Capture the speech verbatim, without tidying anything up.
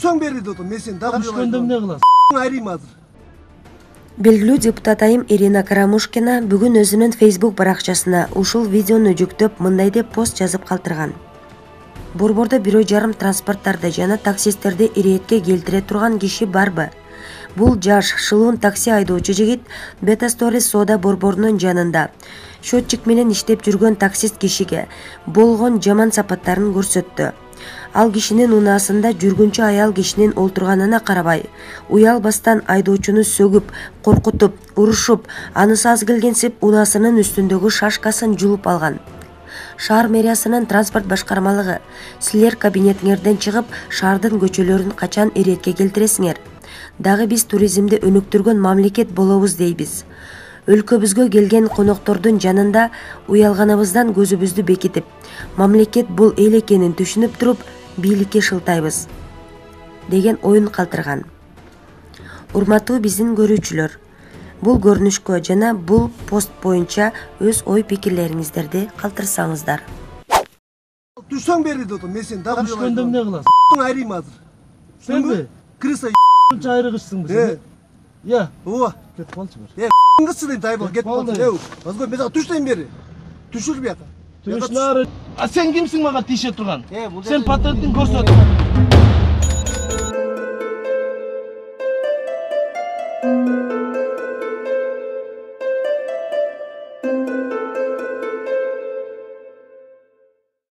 Түшсөң бери дедим, мен сени дагы түшкөндө эмне кыласың? Айрайм азыр. Белгилүү депутат айым Ирина Карамушкина бүгүн өзүнүн Facebook баракчасына ушул видеону жүктөп мындай деп пост жазып калтырган. Борбордо бирөө жарым транспорттарды жана таксисттерди иретке келтире турган киши барбы? Бул жаш, шылуун такси айдоочу жигит Beta Stories соода борборунун жанында счетчик менен иштеп жүргөн таксист кишиге болгон жаман сапаттарын көрсөттү. Ал кишинин унаасында жүргүнчү аял кишинин олтурганына карабай, уялбастан айдоочуну сөгүп, коркутуп, урушуп, анысы аз келгенсип унаасынын үстүндөгү шашкасын жулуп алган. Шаар мэриясынын транспорт башкармалыгы, силер кабинетиңерден чыгып, шаардын көчөлөрүн качан иретке келтиресиңер? Дагы биз туризмди өнүктүргөн мамлекет болобуз дейбиз. Өлкөбүзгө келген коноктордун жанында уялганыбыздан көзүбүздү бекитип, мамлекет бул эл экенин түшүнүп туруп, бийликке шылтайбыз деген оюн калтырган. Урматтуу биздин көрүүчүлөр, бул көрүнүшкө жана бул пост боюнча өз ой пикирлериңиздерди калтырсаңыздар. Түшсөң бери дедим, мен сени дагы түшкөндө эмне кыласың? Айрайм азыр. Сенби? Крыса айрыгычсыңбы сен? Я. Ооба. Кетип калчы Э, бир. кытсы дейм, тайбыл кетип калды. Э, азгой мен дагы түштөйм бери. Түшүр бияка. Түшнары. А сен кимсиң мага тийише турган? Э, бул Сен патентиң көрсөт.